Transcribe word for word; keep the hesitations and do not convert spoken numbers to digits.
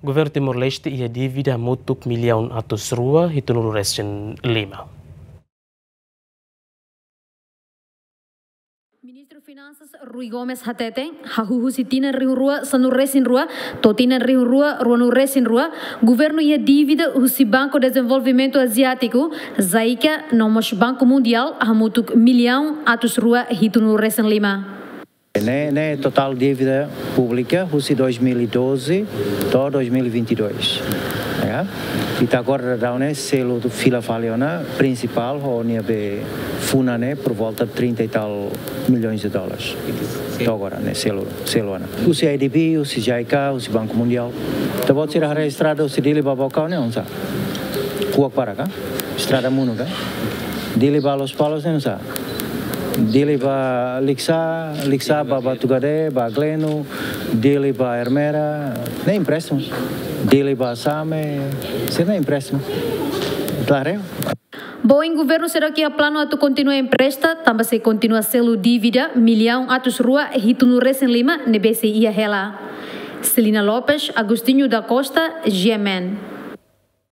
Governu Timor-Leste iha dívida hamutuk millaun atus rua hitunulu resin lima. Ministru Finansas Rui Gomes hateten, hahú husi tinan rihun rua sanulu resin rua to'o tinan rihun rua ruanulu resin rua, governu iha dívida husi Banku Dezenvolvimentu Aziátiku, JICA, no mós Banku Mundiál hamutuk millaun atus rua hitunulu resin lima. Ne'e, ne'e totál dívida públika husi dois mil e doze to'o dois mil e vinte e dois. Ya. Ita agora daudaun ne'e selu fila fali ona prinsipál ho nia be funa ne'e por volta trinta e tal milhões de dólares. To'o agora ne'e selu, selu ona. Husi ADB, husi JICA, husi Banku Mundiál. Ita-boot sira haree estrada husi Dili ba Baucau ne'e oinsá? Kuak barak ka? Estrada monu ka? Dili ba Lospalos ne'e oinsá? Dili ba Likisá, Likisá ba Batugade, ba Gleno, Dili ba Ermera, ne'e empréstimu. Dili ba Same, sira ne'e empréstimu. Klaru? Ba oin governu seidauk iha planu atu kontinua empresta, tanba sei kontinua selu dívida millaun atus rua hitunulu resin lima ne'ebé sei iha hela. Celina Lopes, Agostinho da Costa, GMN.